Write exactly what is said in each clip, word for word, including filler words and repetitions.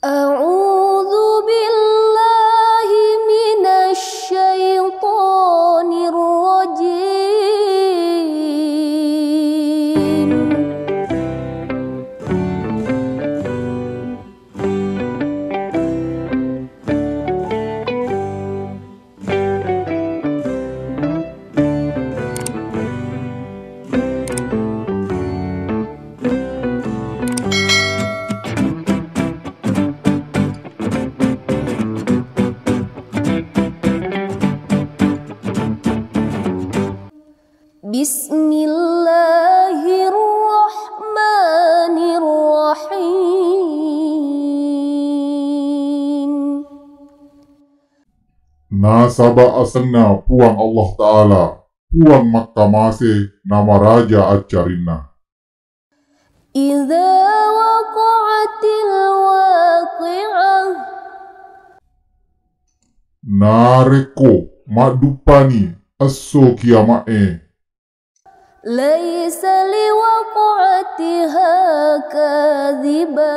أعوذ بالله من الشيطان الرجيم. بسم الله الرحمن الرحيم. Nasaba asenna Puang Allah Ta'ala, Puang makkamase namaraja accarinna. إذا وقعت الواقعة. Narekko madduppani esso kiama'e. ليس لوقعتها كاذبة.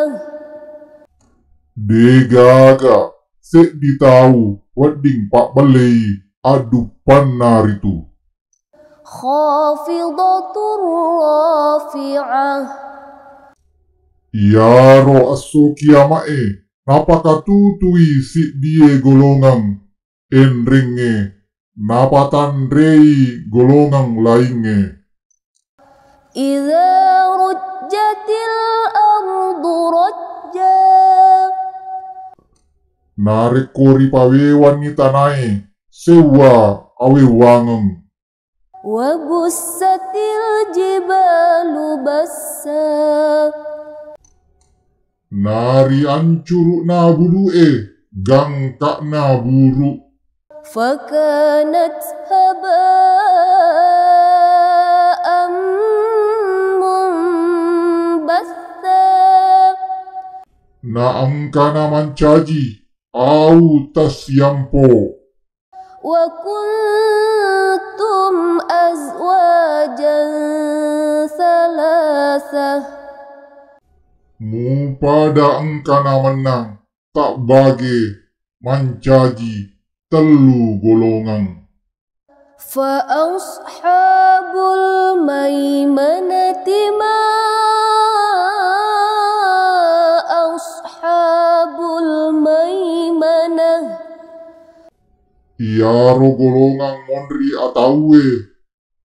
Degaga seddi tau wedding pabbellei adduppanna ritu. خافضة رافعة. Iyaro esso kiama'e napakatutui siddie golongang enrengnge napatanrei golongang laingnge. إذا رجت الأرض رجا. Narekko ripawewanni tanae sewwa awewwangeng. وبست الجبال بسا. Nariancuru'na bulu'e gangka'na buru. فكانت هباء منبثا. Naengkana mancaji au tassiampo. وكنتم أزواجا ثلاثة. Mupada engkana mennang tabbage mancaji tellu golongang. فأصحاب الميمنة ما أصحاب الميمنة. Iyaro golongang monri atauwe,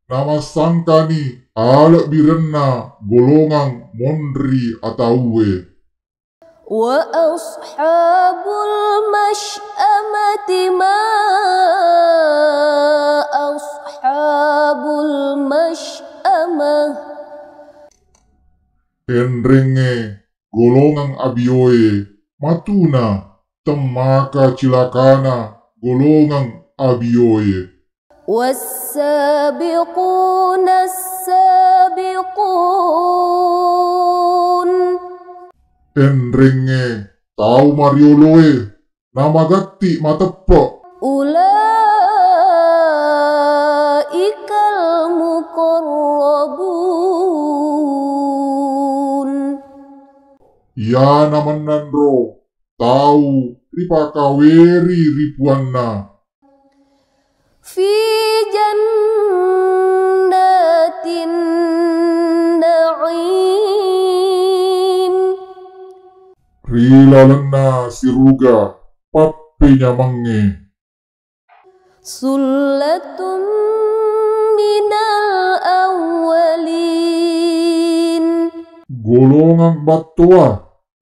namassangkani alebbirenna golongang monri atauwe. وأصحاب المشأمة ما أصحاب المشأمة. Enrengnge golongang abioe matuna temmaka cilakana golongang abioe. والسابقون السابقون. Enrengnge tau marioloe namagatti mateppe. أولئك المقربون. Iyana mennanro tau ripakaweri ri puanna. في جنات النعيم. Ri lalenna siruga pappenyamangnge. ثلة من الأولين. Golongang battoa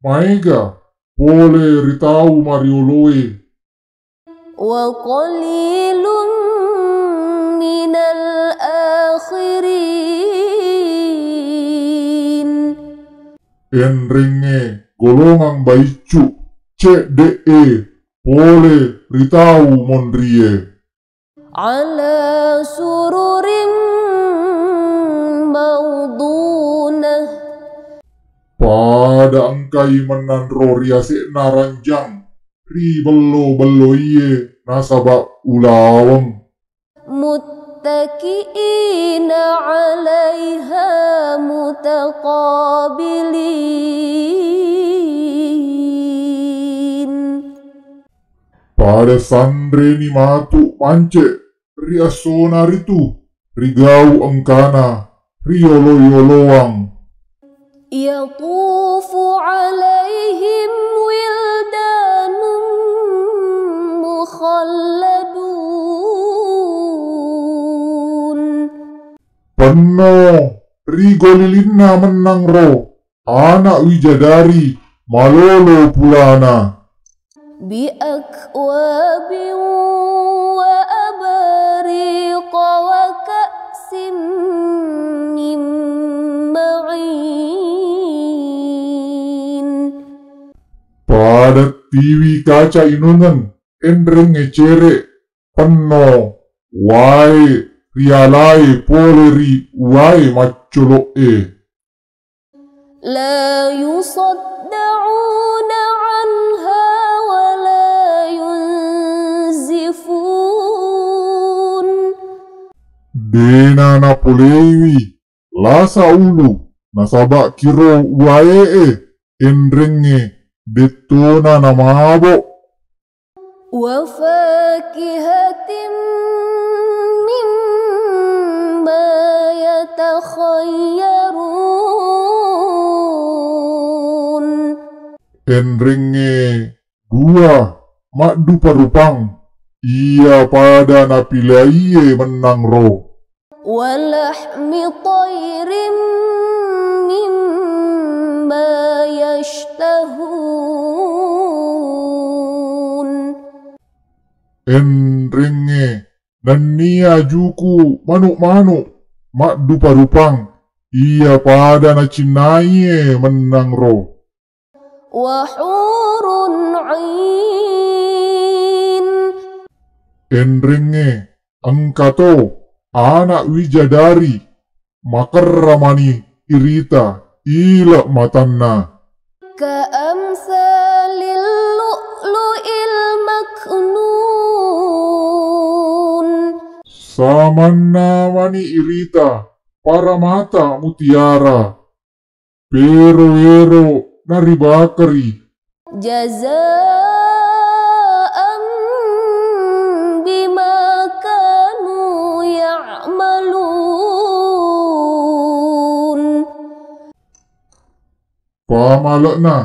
maega pole ri tau marioloe. وقليل من الآخرين. Enrengnge golongang baiccu cedde'e pole ri tau monrie. على سرر موضونة. Pada engkai mennanro ri ase'na ranjang ri bello-belloie nasaba ulaweng. متكئين عليها متقابلين. Pada sanreni matu mance ri essona ritu, ri gau engkana, ri yolo-yoloang. يطوف عليهم ولدان مخلدون. Penno ri golilinna mennang ro, ana' wijadari malolo pulana. بأكواب وأباريق وكأس من معين. Pada tiwi kaca inungeng, enrengnge cere', penno wae rialae pole ri wae maccolo'e. لا يصدعون عنها ولا ينزفون. Dena napoleiwi lasa ulu nasaba' kiro wae'e, enrengnge dettona namabo'. وفاكهة مما يتخيرون. Enrengnge buah maddupa-rupang iya pada napilaiye mennang ro. ولحم طير مما يشتهون. Enrengnge nennia juku' manu'-manu' maddupa-rupang iya pada nacinnaiye mennang ro. وحور عين. Enrengnge engkato ana' wijadari makerra mani irita ile' matanna. كأمثال اللؤلؤ المكنون. Samanna mani irita paramata mutiara, pero-ero naribakari. جزاء بما كانوا يعملون. Pamale'na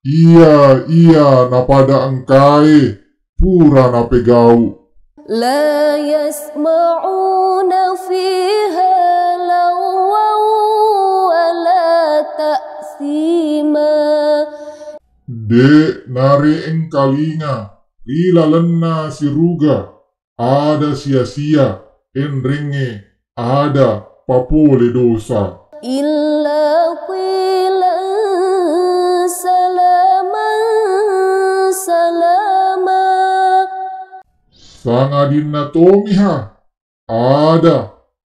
iya-iya napada engkae pura napegau. لا يسمعون فيها لغوا ولا تأثيما. De' nare'engkalinga ri lalenna siruga ada sia-sia, enrengnge ada papole dosa. إلا قيلا سلاما سلاما. Sangadinna tomiha ada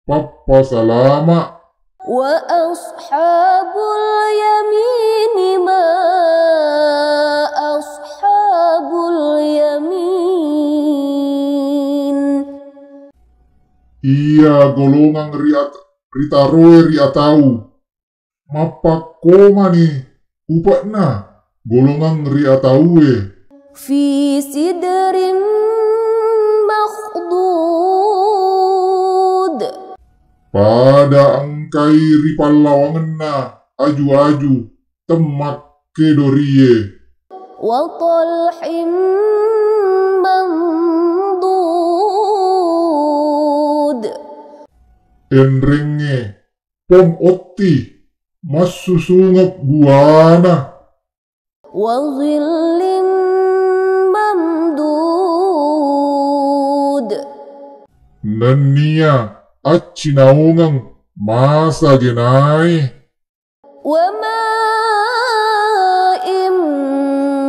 pappasalama. وأصحاب اليمين ما أصحاب اليمين. Iya golongang ri at-, ritaroe ri atau, mappakkomani upe'na golongang ri ataue. في سدر مخضود. Pada engkai ri pallawangenna aju-aju temmakkedorie. وطلح منضود. Enrengnge pong otti massusungeng buana. وظل ممدود. Nennia accinaungeng masa genae. وماء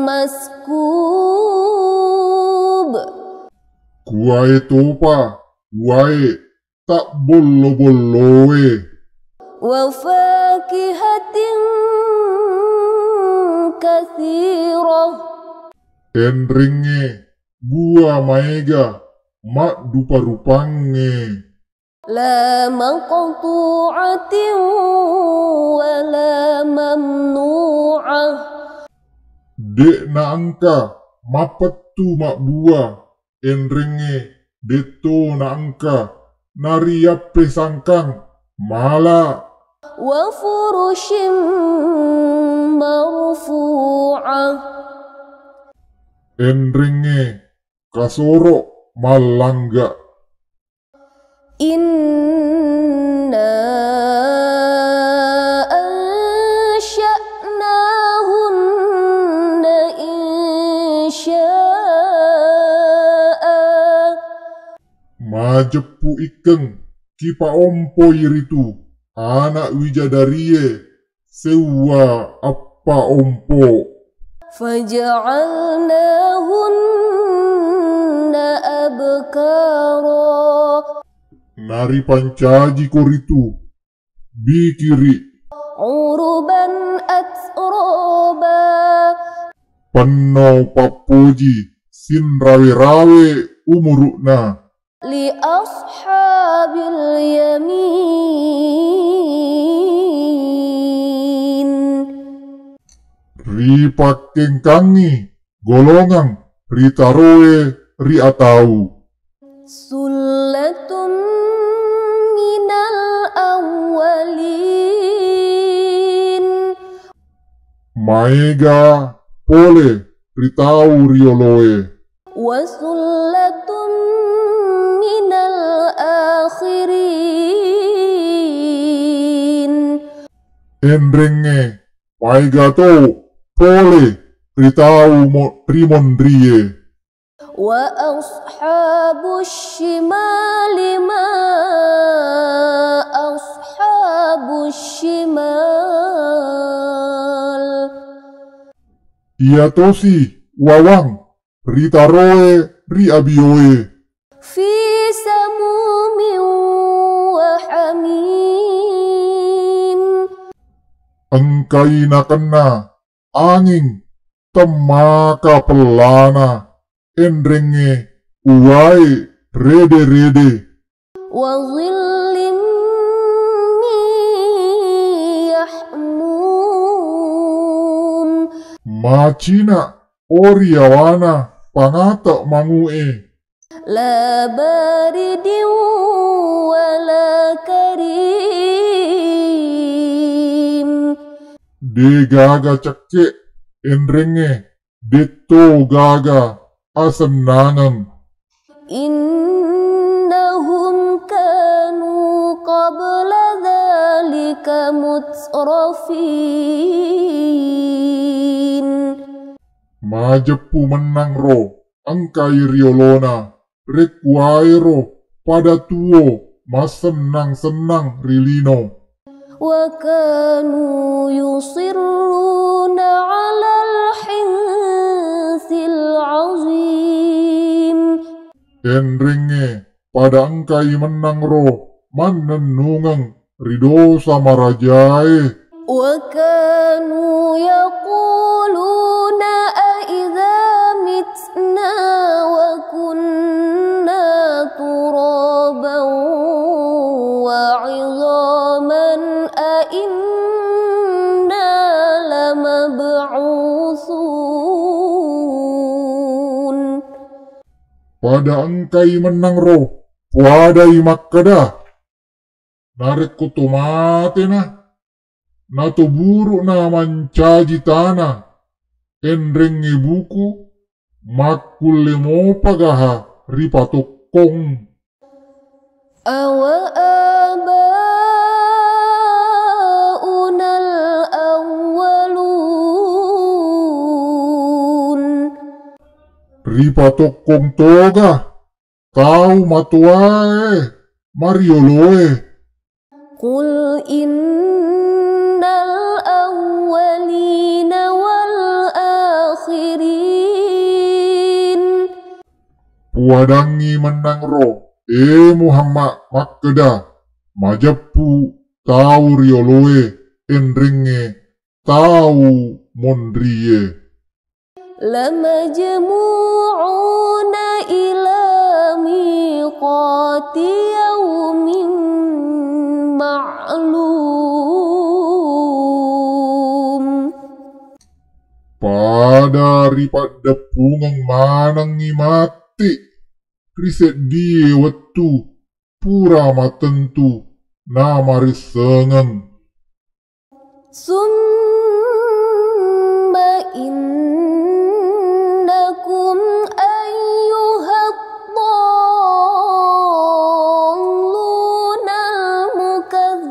مسكوب. Kuwae topa, kuwae tabbollo-bolloe. وفاكهة كثيرة. Enrengnge bua maega maddupa-rupangnge. لا مقطوعة ولا ممنوعة. De'na engka mappet-, wettu mabbua, enrengnge detto naengka nariyappesangkang mala. وفرش مرفوعة. Enrengnge kasoro mallangga. إنا أنشأناهن إنشاء. Majeppu ikkeng kipaompoi ritu ana' wijadarie seuwa appaompo. فجعلناهن أبكارا. Naripancajiko ritu bikiri. عربا أترابا. Penno pappoji sinrawe-rawe umuru'na. لأصحاب اليمين. Ripakkengkangngi golongang ritaroe ri atau. ثلة من الأولين. Maega pole ri tau rioloe. وثلة من الآخرين. Enrengnge maega to pole ri tau mo-, rimonrie. وأصحاب الشمال ما أصحاب الشمال. Iyatosi wawang ritaroe ri abioe. في سموم وحميم. Engkai nakenna anging temmaka pellana, enrengnge uwae rede-rede. وظل من يحموم. Macina ori yawana pangata mangu'e. لا بارد ولا كريم. Degaga cekke, enrengnge detto gaga asennangeng. إنهم كانوا قبل ذلك مترفين. Majeppu mennang ro engkai riolona rekkuwaero pada tuo massennang-sennang ri lino. وكانوا يصرون على الحنث العظيم. Enrengnge pada engkai mennang ro mannennungeng ri dosa marajae. وكانوا يقولون أإذا متنا وكنا ترابا وعظاما أإنا لمبعوثون. Pada engkai mennang ro, puadai makkeda, narekko to matena, na to buru'na mancaji tana, enrengnge buku, makkulle mopa gaha ripatokkong. أوآباؤنا الأولون. Ripatokkong toga tau matoae marioloe. قل إن الأولين والآخرين. Puadangngi mennang ro, e Muhammad, makkeda, majeppu tau rioloe, enrengnge tau monrie. لمجموعون إلى ميقات يوم معلوم. Pa- Pada ripaddeppungeng manengngi matti ri seddie wettu pura mattentu namarissengeng. ثم إنكم أيها الضالون المكذبون.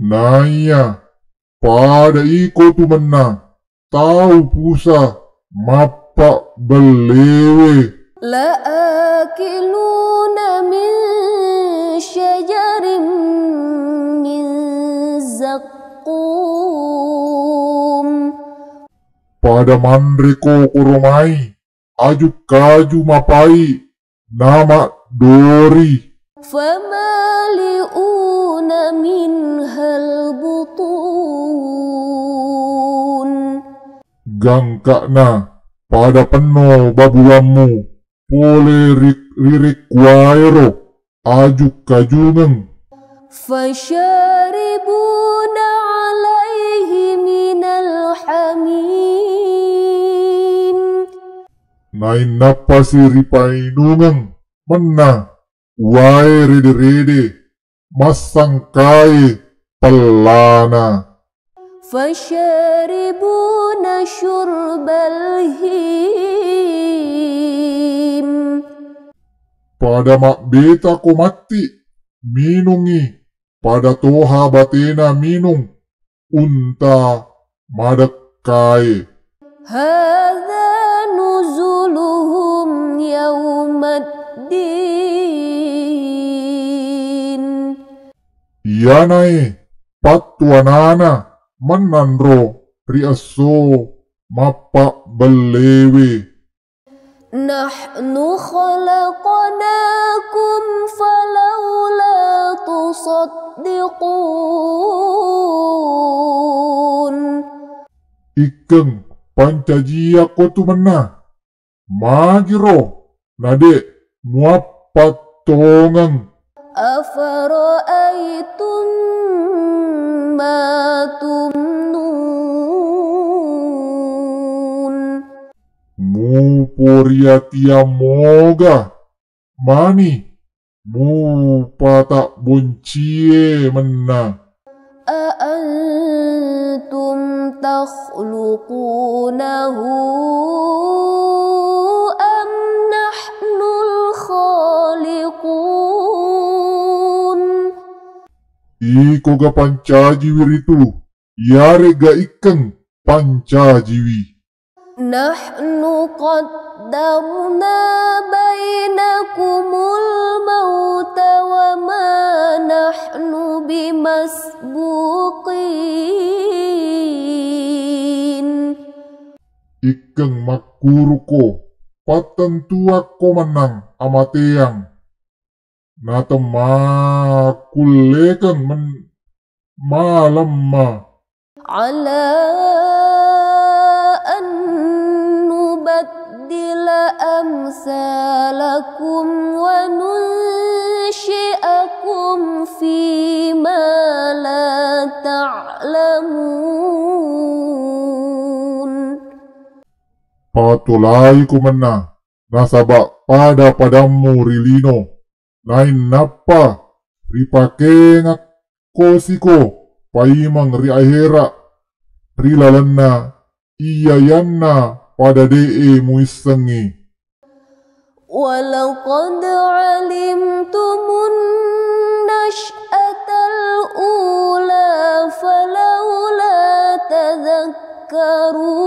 Naiya pada iko tu mennang tau pusa mappabellewe. لآكلون من شجر من زقوم. Pada manreko koromai aju kaju mapai namaddori. فمالئون منها البطون. Gangka'na pada penno babuwammu pole ri, ri rekkuwaero aju kajungeng. فشاربون عليه من الحميم. Nainnappasi ripainungeng mennang uwae rede-rede massangkae pellana. فشاربون شرب الهيم. Pada mabbetako matti minungngi pada toha batena minung unta madekkae. هذا نزلهم يوم الدين. Iyanae pattuanana mennanro ri esso mappabellewe. نحن خلقناكم فلولا تصدقون. Ikkeng pancajiyakko tu mennang, magiro nade muappattongeng. أفرأيتم ما تمنون. Muporia tiang moga mani mupatabboncie mennang. أأنتم تخلقونه أم نحن الخالقون. Ikoga pancajiwi ritu, iyare'ga ikkeng pancajiwi? نحن قدرنا بينكم الموت وما نحن بمسبوقين. Ikkeng makkuruko pattentuakko mennang amateang, natemmakkullekeng men-, malemma. على أن نبدل أمثالكم وننشئكم فيما لا تعلمون. Patolaiko mennang nasaba pada-padammu ri lino, nainnappa ripakengakko siko paimeng ri ahera ri lalenna iyayanna pada de'e muissengngi. ولقد علمتم النشأة الأولى فلولا تذكرون.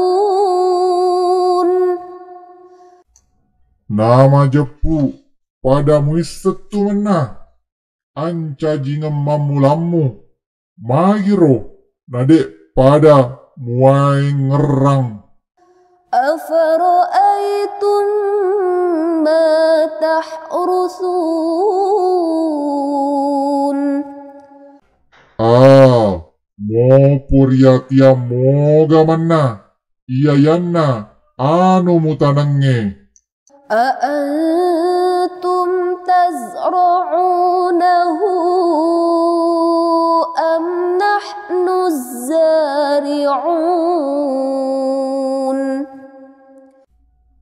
Namajeppu pada muissettu mennang ancajingeng mammulammu, magiro nade pada muwaengngerrang. أفرأيتم ما تحرثون. A, mopo riatiang moga mennang iyayanna anu mutanengnge. أأنتم تزرعونه أم نحن الزارعون. سارعون.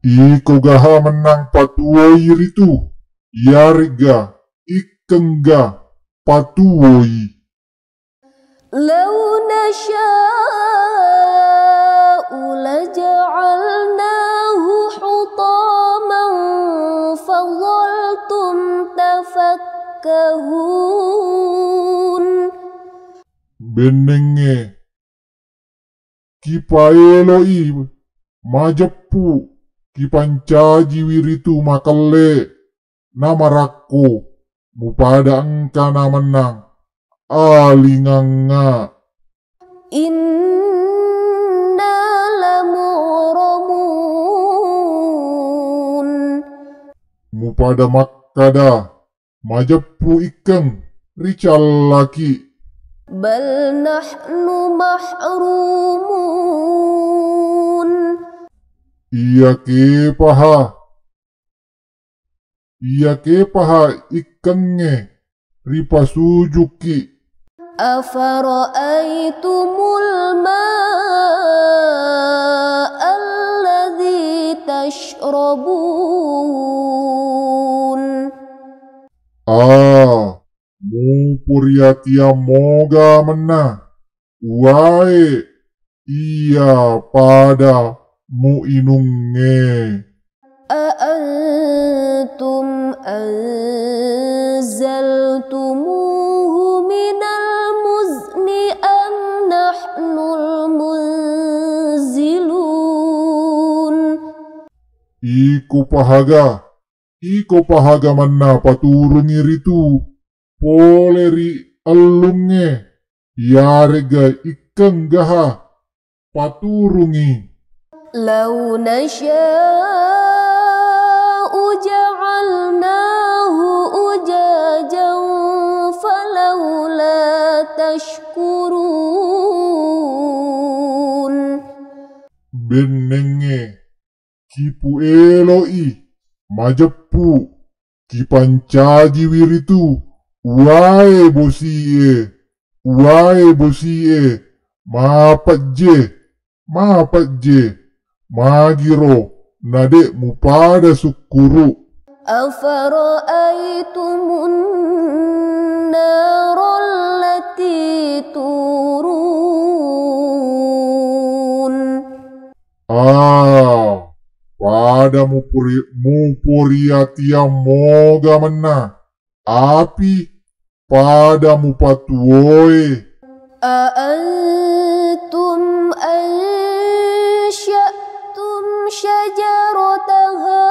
Iko gaha mennang patuwoi ritu, iyaregga ikkengga patuwoi. لو نشاء لجعلناه حطاما فظلتم تفكهون. Bennengnge, kipaélo'i majeppu, kipancajiwi ritu makellé namarakko, mupada engkana mennang alingangnga. إنا لمغرمون. Mupada makkada, majeppu ikkeng ricallaki. بل نحن محرومون. Iyaképaha, iyaképaha ikkengnge ripasujukki. أفرأيتم الماء الذي تشربون. A, muporiatiang moga mennang uwaé iya pada muinungnge. أأنتم أنزلتموه من المزن أم نحن المنزلون. Iko pahaga, iko pahaga mennang paturungngi ritu polé ri ellungnge, iyaré'ga ikkeng gaha paturungngi. لو نشاء جعلناه أجاجا فلولا تشكرون. Bennengnge, kipuélo'i majeppu, kipancajiwi ritu uwaé bosi'é, uwaé bosi'é, mapejje, mapejje, magiro nadé' mupada sukkuru'. أفرأيتم النار التي تورون. A, pada mupori-, muporiatiang moga mennang api pada mupatuwoé. أأنتم أنشأتم شجرتها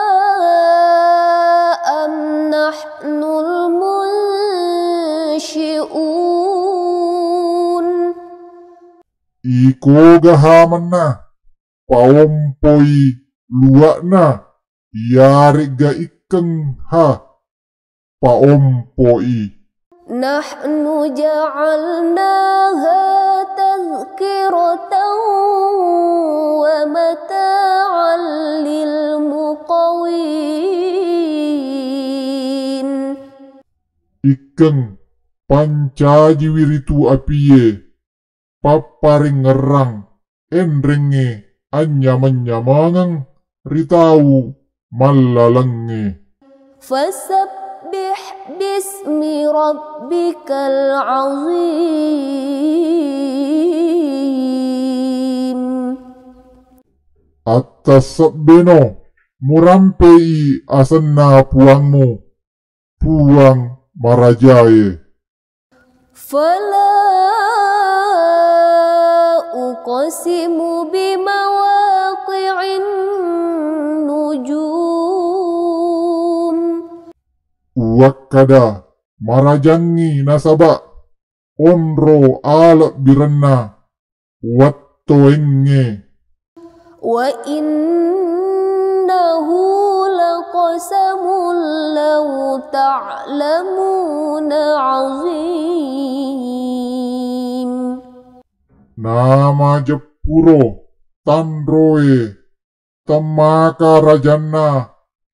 أم نحن المنشئون. Iko gaha mennang paompoi luwa'na, iyaré'ga ikkeng ha paompoi. نحن جعلناها تذكرة ومتاعا للمقوين. Ikkeng pancajiwi ritu apié, papparengngerang enrengngé anynyameng-nyamengeng ri tau mallalengngé. فسبح باسم ربك العظيم. Attassebbéno, murampéi asenna Puwangmu, Puwang marajaé. فلا أقسم بمواقع النجوم. Uwakkada marajangngi nasaba onro alebbirenna wettoéngngé. وإنه لقسم لو تعلمون عظيم. Namajeppuro tanroé temmaka rajanna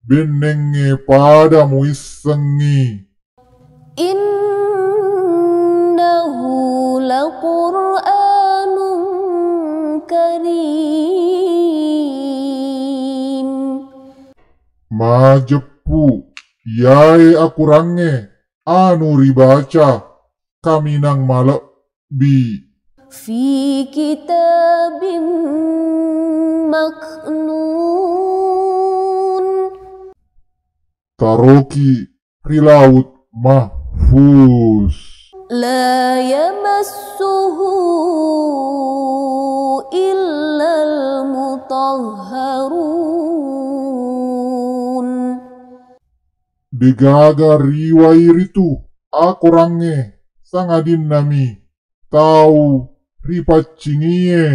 bennengngé pada muissengngi. إنه لقرآن كريم. Majeppu, iyaé akorangnge anu ribaca kaminang malebbi. في كتاب مكنون. Taroki ri Laut Mahfuz. لا يمسه إلا المطهرون. Degaga riwai ritu akorangnge, sangadinna mi tau ripaccingie.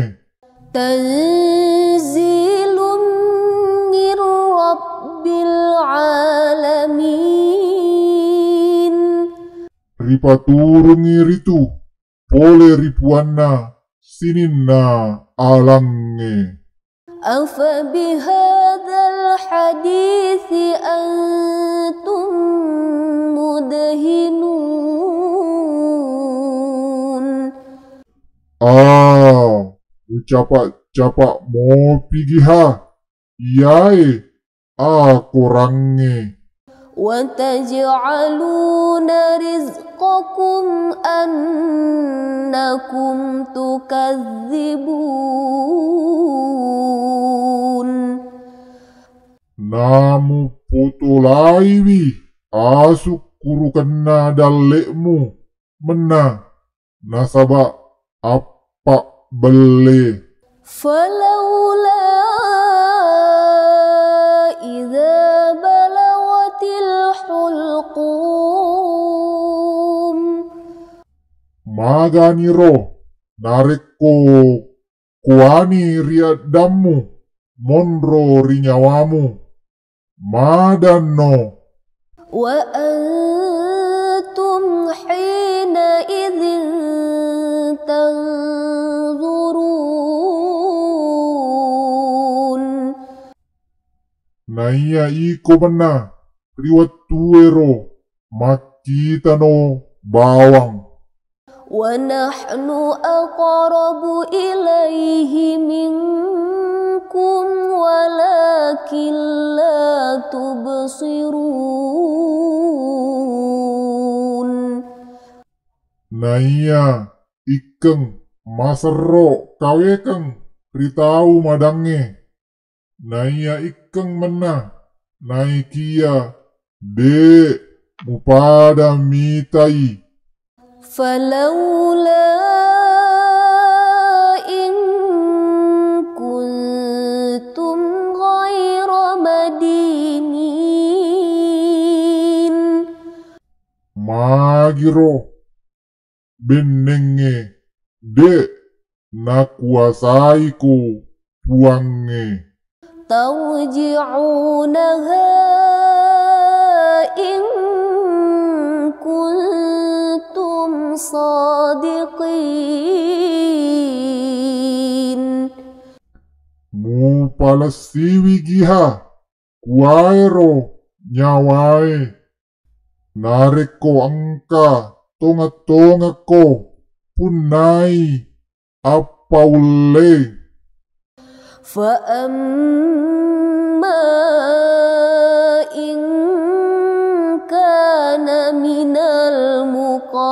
تنزيل من رب العالمين. Ripaturungi ritu pole ri Puanna sininna alangnge. أفبهذا الحديث أنتم مدهنون. A, mucapa-capa mopi giha iyae akorangnge. وتجعلون رزقكم أنكم تكذبون. Namupotolaiwi asukkurukenna dalle'mu mennang nasaba appabbelle. فلولا إذا بلغت الحلقوم. Maganiro narekko kuani ri eddammu monro ri nyawamu, madanno. وأنتم حينئذ تنظرون. Naiya iko mennang ri wettuero makkitano bawang. ونحن أقرب إليه منكم ولكن لا تبصرون. Naiya ikkeng maserro kawekeng ri tau madangnge. Naiya ikkeng mennang, naikiya de' mupada mitai. فلولا إن كنتم غير مدينين. Magiro bennengnge de' nakuwasaiko Puangnge. ترجعونها إن كنتم صادقين. Mupalessiwi giha kuwaéro nyawaé, narékko engka tongeng-tongengko punnai appaullé. فأما إن كان من المقربين.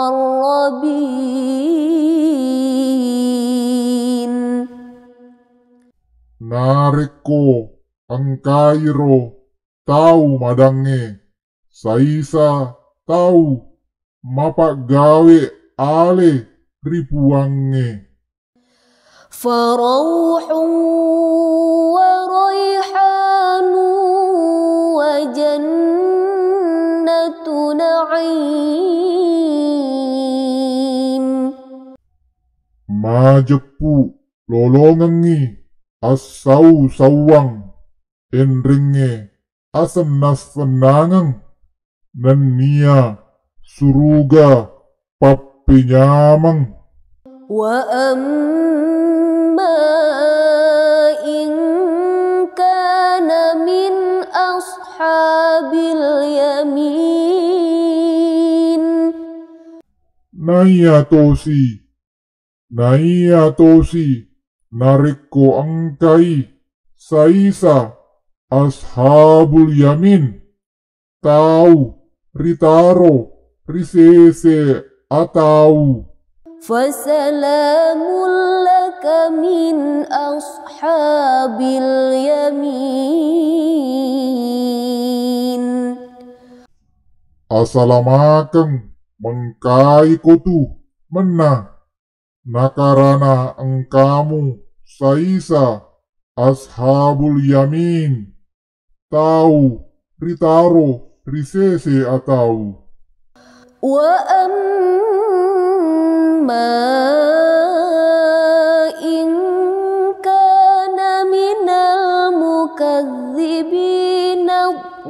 Narékko engkairo tau madangngé, saisa tau mapaggawé alé ri Puwangnge. فروح وريحان وجنة نعيم. Majeppu lolongengngi assau-sauwang enrengngé asennang-sennangeng nenniya suruga pappenyameng. وأما إن كان من أصحاب اليمين. Naiya tosi, naiya tosi Narekko engkai saisa ashabul yamin, tau ritaro ri sese atau. فسلام لك من أصحاب اليمين. Asalamakeng mengkai kotu menna nakarana engkamu saisa ashabul yamin, tau ritaro ri sese atau. وأما إن كان من المكذبين الضالين.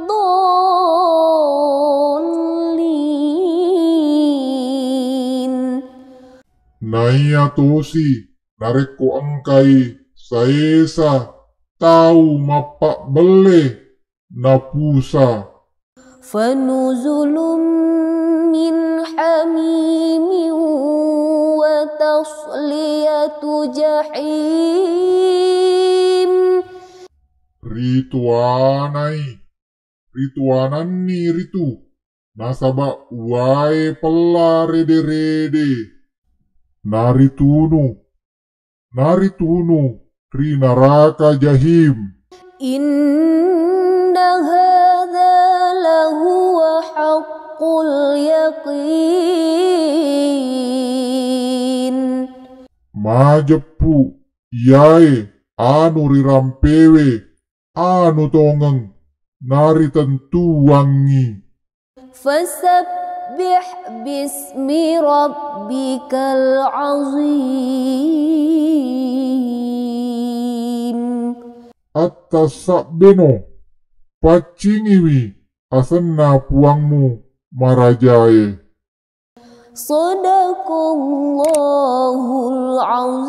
Naiya tosi narekko engkai saesa tau mappabbelle napusa. فنزل من حميم وتصلية جحيم. Rituanai, rituananni ritu nasaba uwae pella rede-rede. Naritunu, naritunu ri naraka jahim. إن هذا لهو حق اليقين. Majeppu iyae anu rirampewe anu tongeng naritentuangngi. فسبح باسم ربك العظيم. Attasabbeno, paccingiwi asenna Puangmu marajae. صدق الله العظيم.